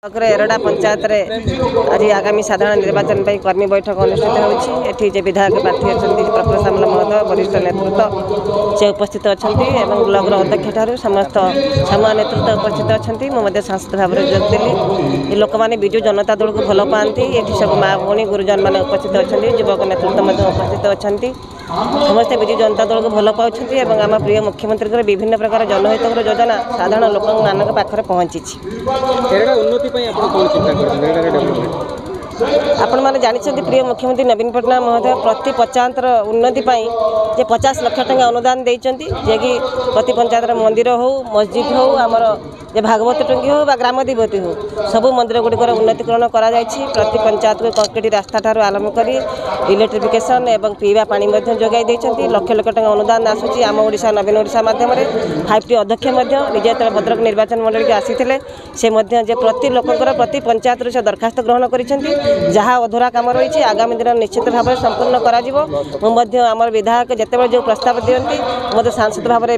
ବ୍ଲକର ଏରଡ଼ା ପଞ୍ଚାୟତରେ ଆଜି ଆଗାମୀ ସାଧାରଣ ନିର୍ବାଚନ ପାଇଁ କର୍ମୀ ବୈଠକ ଅନୁଷ୍ଠିତ ହେଉଛି। ଏଠି ଯେ ବିଧାୟକ ପ୍ରାର୍ଥୀ ଅଛନ୍ତି ପ୍ରଫୁଲ୍ଲ ସାମଲ ମହୋଦୟ, ବରିଷ୍ଠ ନେତୃତ୍ୱ ସେ ଉପସ୍ଥିତ ଅଛନ୍ତି ଏବଂ ବ୍ଲକର ଅଧ୍ୟକ୍ଷ ଠାରୁ ସମସ୍ତ ଛାମୁଆ ନେତୃତ୍ୱ ଉପସ୍ଥିତ ଅଛନ୍ତି। ମୁଁ ମଧ୍ୟ ସାଂସଦ ଭାବରେ ଯୋଗ ଦେଲି। ଏ ଲୋକମାନେ ବିଜୁ ଜନତା ଦଳକୁ ଭଲ ପାଆନ୍ତି। ଏଠି ସବୁ ମା ଭଉଣୀ ଗୁରୁଜନମାନେ ଉପସ୍ଥିତ ଅଛନ୍ତି, ଯୁବକ ନେତୃତ୍ୱ ମଧ୍ୟ ଉପସ୍ଥିତ ଅଛନ୍ତି। ସମସ୍ତେ ବିଜୁ ଜନତା ଦଳକୁ ଭଲ ପାଉଛନ୍ତି ଏବଂ ଆମ ପ୍ରିୟ ମୁଖ୍ୟମନ୍ତ୍ରୀଙ୍କର ବିଭିନ୍ନ ପ୍ରକାର ଜନହିତକର ଯୋଜନା ସାଧାରଣ ଲୋକମାନଙ୍କ ପାଖରେ ପହଞ୍ଚିଛି। ଏରଡ଼ା ଉନ୍ନତି ପାଇଁ ଆପଣ କ'ଣ ଚିନ୍ତା କରୁଛନ୍ତି? ଏରଡ଼ାର ଡେଭଲପମେଣ୍ଟ ଆପଣମାନେ ଜାଣିଛନ୍ତି, ପ୍ରିୟ ମୁଖ୍ୟମନ୍ତ୍ରୀ ନବୀନ ପଟ୍ଟନାୟକ ମହୋଦୟ ପ୍ରତି ପଞ୍ଚାୟତର ଉନ୍ନତି ପାଇଁ ଯେ 50 ଲକ୍ଷ ଟଙ୍କା ଅନୁଦାନ ଦେଇଛନ୍ତି, ଯିଏକି ପ୍ରତି ପଞ୍ଚାୟତର ମନ୍ଦିର ହେଉ, ମସଜିଦ୍ ହେଉ, ଆମର ଯେ ଭାଗବତ ଟୁଙ୍ଗି ହେଉ ବା ଗ୍ରାମ ଦେବତୀ ହେଉ, ସବୁ ମନ୍ଦିର ଗୁଡ଼ିକର ଉନ୍ନତିକରଣ କରାଯାଇଛି। ପ୍ରତି ପଞ୍ଚାୟତକୁ କଂକ୍ରିଟ ରାସ୍ତାଠାରୁ ଆରମ୍ଭ କରି ଇଲେକ୍ଟ୍ରିଫିକେସନ୍ ଏବଂ ପିଇବା ପାଣି ମଧ୍ୟ ଯୋଗାଇ ଦେଇଛନ୍ତି। ଲକ୍ଷ ଲକ୍ଷ ଟଙ୍କା ଅନୁଦାନ ଆସୁଛି ଆମ ଓଡ଼ିଶା ନବୀନ ଓଡ଼ିଶା ମାଧ୍ୟମରେ। 5ଟି ଅଧ୍ୟକ୍ଷ ମଧ୍ୟ ନିଜେ ଯେତେବେଳେ ଭଦ୍ରକ ନିର୍ବାଚନ ମଣ୍ଡଳୀକୁ ଆସିଥିଲେ, ସେ ମଧ୍ୟ ଯେ ପ୍ରତି ଲୋକଙ୍କର ପ୍ରତି ପଞ୍ଚାୟତରୁ ସେ ଦରଖାସ୍ତ ଗ୍ରହଣ କରିଛନ୍ତି। ଯାହା ଅଧୁରା କାମ ରହିଛି, ଆଗାମୀ ଦିନ ନିଶ୍ଚିତ ଭାବରେ ସମ୍ପୂର୍ଣ୍ଣ କରାଯିବ। ମୁଁ ମଧ୍ୟ ଆମର ବିଧାୟକ ଯେତେବେଳେ ଯେଉଁ ପ୍ରସ୍ତାବ ଦିଅନ୍ତି, ମଧ୍ୟ ସାଂସଦ ଭାବରେ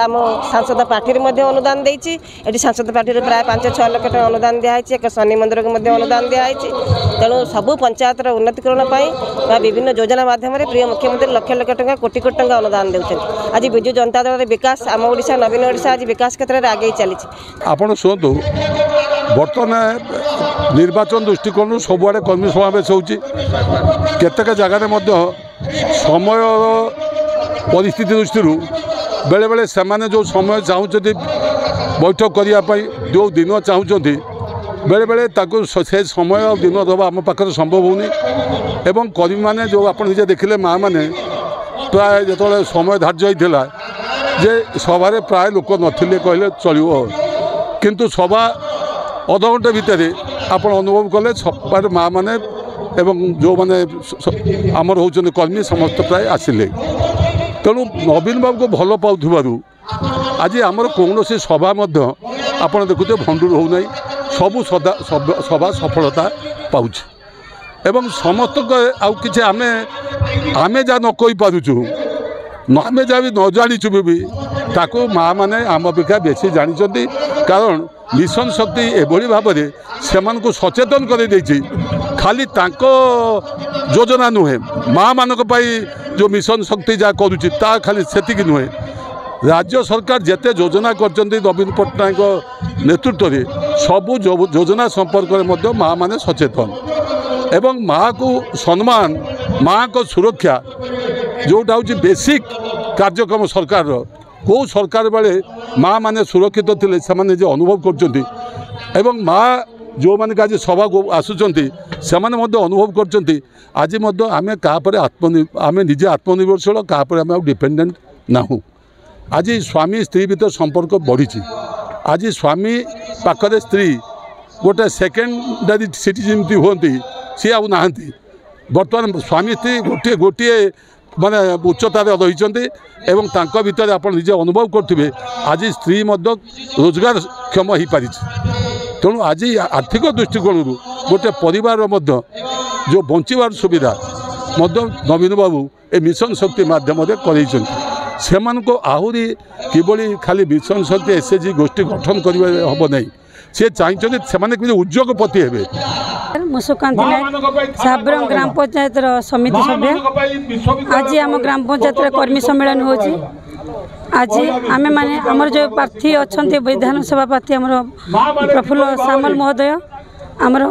ଆମ ସାଂସଦ ପାଣ୍ଠିରେ ମଧ୍ୟ ଅନୁଦାନ ଦେଇଛି। ଏଠି ସାଂସଦ ପାଣ୍ଠିରୁ ପ୍ରାୟ 5-6 ଲକ୍ଷ ଟଙ୍କା ଅନୁଦାନ ଦିଆହେଇଛି। ଏକ ଶନି ମନ୍ଦିରକୁ ମଧ୍ୟ ଅନୁଦାନ ଦିଆହେଇଛି। ତେଣୁ ସବୁ ପଞ୍ଚାୟତର ଉନ୍ନତିକରଣ ପାଇଁ ବା ବିଭିନ୍ନ ଯୋଜନା ମାଧ୍ୟମରେ ପ୍ରିୟ ମୁଖ୍ୟମନ୍ତ୍ରୀ ଲକ୍ଷ ଲକ୍ଷ ଟଙ୍କା, କୋଟି କୋଟି ଟଙ୍କା ଅନୁଦାନ ଦେଉଛନ୍ତି। ଆଜି ବିଜୁ ଜନତା ଦଳର ବିକାଶ, ଆମ ଓଡ଼ିଶା ନବୀନ ଓଡ଼ିଶା ଆଜି ବିକାଶ କ୍ଷେତ୍ରରେ ଆଗେଇ ଚାଲିଛି। ଆପଣ ଶୁଣନ୍ତୁ, ବର୍ତ୍ତମାନ ନିର୍ବାଚନ ଦୃଷ୍ଟିକୋଣରୁ ସବୁଆଡ଼େ କର୍ମୀ ସମାବେଶ ହେଉଛି। କେତେକ ଜାଗାରେ ମଧ୍ୟ ସମୟର ପରିସ୍ଥିତି ଦୃଷ୍ଟିରୁ ବେଳେବେଳେ ସେମାନେ ଯେଉଁ ସମୟ ଚାହୁଁଛନ୍ତି ବୈଠକ କରିବା ପାଇଁ, ଯେଉଁ ଦିନ ଚାହୁଁଛନ୍ତି, ବେଳେବେଳେ ତାକୁ ସେ ସମୟ ଆଉ ଦିନ ଦେବା ଆମ ପାଖରେ ସମ୍ଭବ ହେଉନି। ଏବଂ କର୍ମୀମାନେ ଯେଉଁ ଆପଣ ନିଜେ ଦେଖିଲେ, ମାଆମାନେ ପ୍ରାୟ ଯେତେବେଳେ ସମୟ ଧାର୍ଯ୍ୟ ହେଇଥିଲା ଯେ ସଭାରେ ପ୍ରାୟ ଲୋକ ନଥିଲେ କହିଲେ ଚଳିବ, କିନ୍ତୁ ସଭା ଅଧଘଣ୍ଟେ ଭିତରେ ଆପଣ ଅନୁଭବ କଲେ ସଭାରେ ମାଆମାନେ ଏବଂ ଯେଉଁମାନେ ଆମର ହେଉଛନ୍ତି କର୍ମୀ ସମସ୍ତେ ପ୍ରାୟ ଆସିଲେ। ତେଣୁ ନବୀନ ବାବୁକୁ ଭଲ ପାଉଥିବାରୁ ଆଜି ଆମର କୌଣସି ସଭା ମଧ୍ୟ ଆପଣ ଦେଖୁଥିବେ ଭଣ୍ଡୁର ହେଉନାହିଁ, ସବୁ ସଭା ସଫଳତା ପାଉଛି। ଏବଂ ସମସ୍ତଙ୍କ ଆଉ କିଛି ଆମେ ଯାହା ନ କହିପାରୁଛୁ, ଆମେ ଯାହା ବି ନ ଜାଣିଛୁ ବି, ତାକୁ ମାଆମାନେ ଆମ ଅପେକ୍ଷା ବେଶୀ ଜାଣିଛନ୍ତି। କାରଣ ମିଶନ ଶକ୍ତି ଏଭଳି ଭାବରେ ସେମାନଙ୍କୁ ସଚେତନ କରିଦେଇଛି। ଖାଲି ତାଙ୍କ ଯୋଜନା ନୁହେଁ, ମାଆମାନଙ୍କ ପାଇଁ ଯେଉଁ ମିଶନ ଶକ୍ତି ଯାହା କରୁଛି ତା ଖାଲି ସେତିକି ନୁହେଁ, ରାଜ୍ୟ ସରକାର ଯେତେ ଯୋଜନା କରିଛନ୍ତି ନବୀନ ପଟ୍ଟନାୟକଙ୍କ ନେତୃତ୍ୱରେ, ସବୁ ଯୋଜନା ସମ୍ପର୍କରେ ମଧ୍ୟ ମାଆମାନେ ସଚେତନ। ଏବଂ ମାଆକୁ ସମ୍ମାନ, ମାଆଙ୍କ ସୁରକ୍ଷା ଯେଉଁଟା ହେଉଛି ବେସିକ୍ କାର୍ଯ୍ୟକ୍ରମ ସରକାରର, କେଉଁ ସରକାର ବେଳେ ମାଆମାନେ ସୁରକ୍ଷିତ ଥିଲେ ସେମାନେ ନିଜେ ଅନୁଭବ କରୁଛନ୍ତି। ଏବଂ ମା ଯେଉଁମାନେ ଆଜି ସଭାକୁ ଆସୁଛନ୍ତି ସେମାନେ ମଧ୍ୟ ଅନୁଭବ କରୁଛନ୍ତି, ଆଜି ମଧ୍ୟ ଆମେ କାହା ଉପରେ ଆମେ ନିଜେ ଆତ୍ମନିର୍ଭରଶୀଳ, କାହା ଉପରେ ଆମେ ଆଉ ଡିପେଣ୍ଡେଣ୍ଟ ନାହୁଁ। ଆଜି ସ୍ୱାମୀ ସ୍ତ୍ରୀ ଭିତରେ ସମ୍ପର୍କ ବଢ଼ିଛି। ଆଜି ସ୍ୱାମୀ ପାଖରେ ସ୍ତ୍ରୀ ଗୋଟେ ସେକେଣ୍ଡାରୀ ସିଟି ଯେମିତି ହୁଅନ୍ତି, ସିଏ ଆଉ ନାହାନ୍ତି। ବର୍ତ୍ତମାନ ସ୍ୱାମୀ ସ୍ତ୍ରୀ ଗୋଟିଏ ଗୋଟିଏ ମାନେ ଉଚ୍ଚତାରେ ରହିଛନ୍ତି ଏବଂ ତାଙ୍କ ଭିତରେ ଆପଣ ନିଜେ ଅନୁଭବ କରୁଥିବେ, ଆଜି ସ୍ତ୍ରୀ ମଧ୍ୟ ରୋଜଗାରକ୍ଷମ ହୋଇପାରିଛି। ତେଣୁ ଆଜି ଆର୍ଥିକ ଦୃଷ୍ଟିକୋଣରୁ ଗୋଟେ ପରିବାରର ମଧ୍ୟ ଯେଉଁ ବଞ୍ଚିବାର ସୁବିଧା ମଧ୍ୟ ନବୀନ ବାବୁ ଏ ମିଶନ ଶକ୍ତି ମାଧ୍ୟମରେ କରେଇଛନ୍ତି। ସେମାନଙ୍କୁ ଆହୁରି କିଭଳି ଖାଲି ମିଶନ ଶକ୍ତି ଏସ୍ ଏଚ୍ ଜି ଗୋଷ୍ଠୀ ଗଠନ କରିବା ହେବ ନାହିଁ, ସେ ଚାହିଁଛନ୍ତି ସେମାନେ କେମିତି ଉଦ୍ୟୋଗପତି ହେବେ। ମୁଁ ସୁକାନ୍ତି ନାୟକ, ସାବ୍ରଙ୍ଗ ଗ୍ରାମ ପଞ୍ଚାୟତର ସମିତି ସଭ୍ୟ। ଆଜି ଆମ ଗ୍ରାମ ପଞ୍ଚାୟତରେ କର୍ମୀ ସମ୍ମିଳନୀ ହେଉଛି। ଆଜି ଆମେମାନେ ଆମର ଯେଉଁ ପ୍ରାର୍ଥୀ ଅଛନ୍ତି, ବିଧାନସଭା ପ୍ରାର୍ଥୀ ଆମର ପ୍ରଫୁଲ୍ଲ ସାମଲ ମହୋଦୟ, ଆମର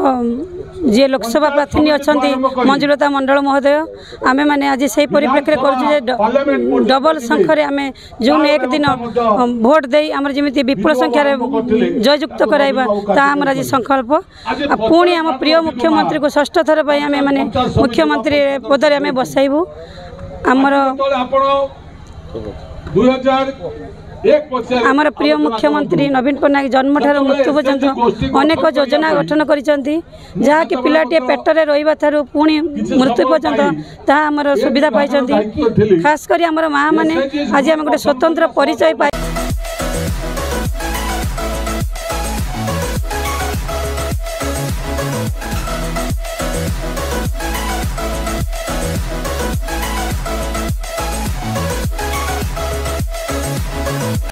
ଯିଏ ଲୋକସଭା ପ୍ରାର୍ଥିନୀ ଅଛନ୍ତି ମଞ୍ଜୁଲତା ମଣ୍ଡଳ ମହୋଦୟ, ଆମେମାନେ ଆଜି ସେଇ ପରିପ୍ରେକ୍ଷୀରେ କରୁଛୁ ଯେ ଡବଲ ଶଙ୍ଖରେ ଆମେ ଜୁନ୍ 1 ଦିନ ଭୋଟ ଦେଇ ଆମର ଯେମିତି ବିପୁଳ ସଂଖ୍ୟାରେ ଜୟଯୁକ୍ତ କରାଇବା, ତାହା ଆମର ଆଜି ସଂକଳ୍ପ। ଆଉ ପୁଣି ଆମ ପ୍ରିୟ ମୁଖ୍ୟମନ୍ତ୍ରୀକୁ ଷଷ୍ଠ ଥର ପାଇଁ ଆମେ ମାନେ ମୁଖ୍ୟମନ୍ତ୍ରୀ ପଦରେ ଆମେ ବସାଇବୁ। ଆମର ପ୍ରିୟ ମୁଖ୍ୟମନ୍ତ୍ରୀ ନବୀନ ପଟ୍ଟନାୟକ ଜନ୍ମଠାରୁ ମୃତ୍ୟୁ ପର୍ଯ୍ୟନ୍ତ ଅନେକ ଯୋଜନା ଗଠନ କରିଛନ୍ତି, ଯାହାକି ପିଲାଟିଏ ପେଟରେ ରହିବା ଠାରୁ ପୁଣି ମୃତ୍ୟୁ ପର୍ଯ୍ୟନ୍ତ ତାହା ଆମର ସୁବିଧା ପାଇଛନ୍ତି। ଖାସ କରି ଆମର ମାଆ ମାନେ ଆଜି ଆମେ ଗୋଟେ ସ୍ୱତନ୍ତ୍ର ପରିଚୟ ପାଇ